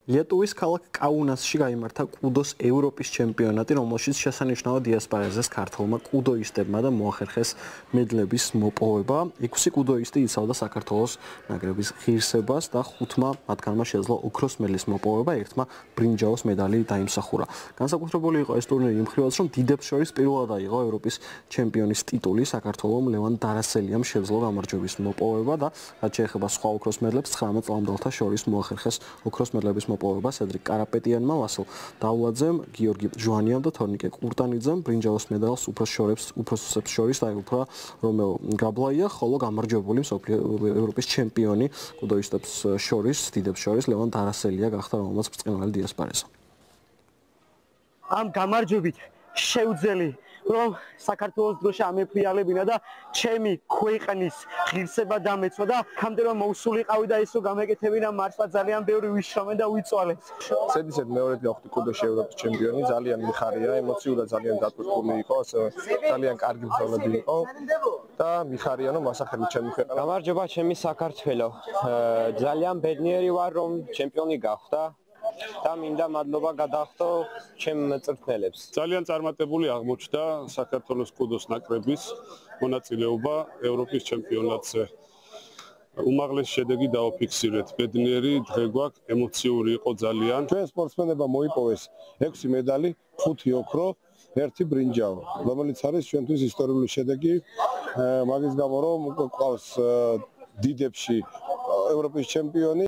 Lietuvis ქალაქ კაუნასში გაიმართა კუდოს ევროპის ჩემპიონატი, რომელშიც შესანიშნავად დიასპარეზეს ქართველმა კუდოისტებმა და მოახერხეს მედლების მოპოვება. 6 კუდოისტი იცავდა საქართველოს ნაკრების ღირსებას და 5-მა მათგანმა შეძლო ოქროს მედლის მოპოვება, ერთმა ბრინჯაოს მედალი დაიმსახურა. განსაკუთრებული იყო ეს ტურნირი იმ მხრივაც, რომ დიდებს შორის პირველად აიღო ევროპის ჩემპიონის ტიტული საქართველომ ლევან დარასელიამ შეძლო გამარჯვების მოპოვება და რაც შეეხება სხვა ოქროს მედლებს 19 წლამდელთა შორის მოახერხეს ოქროს მედლების მოპოვება სედრიკ კარაპეტიანმა, ვასილ დაულაძემ, გიორგი ჟვანიამ და თორნიკე კურტანიძემ ბრინჯაოს მედალს უფროსებს შორის დაეუფლა რომეო გაბლაია, ხოლო გამარჯვებული ევროპის ჩემპიონი კუდოისტებს შორის, დიდებს შორის ლევან დარასელია გახდა, რომელმაც ბრწყინვალე დიასპარეზა. Am გამარჯვებით შევძელი რომ საქართველოს დროშა ამეფრიალებინა და ჩემი ქვეყნის ღირსება დამეცვა და ხამდე რომ მოусულიყავი და ისო გამეკეთებინა მართლა ძალიან ბევრი ვიშრომე და ვიწვალე. Სედისედ მეორედ გავხდი კუდოში ევროპის ჩემპიონი, ძალიან მიხარია, ემოციურად ძალიან დატვირთული იყო, ძალიან კარგი ბრძოლები იყო და მიხარია რომ ასახელი ჩემი ქვეყანა. გამარჯობა ჩემი საქართველო. ძალიან ბედნიერი ვარ რომ ჩემპიონი გავხდა. და მინდა მადლობა გადაახდო ჩემ მწვრთნელებს. ძალიან წარმატებული აღმოჩნდა საქართველოს კუდოს ნაკრების მონაწილეობა ევროპის ჩემპიონატზე. უმაღლესი შედეგი დააფიქსირეთ. ბედნიერი დღე გვაქვს, ემოციური იყო ძალიან. ჩვენ სპორტსმენებმა მოიპოვეს 6 მედალი, 5 ოქრო, 1 ბრინჯაო, რომელიც არის ჩვენთვის ისტორიული შედეგი. მაგის გამო რომ გვყავს დიდებში ევროპის ჩემპიონი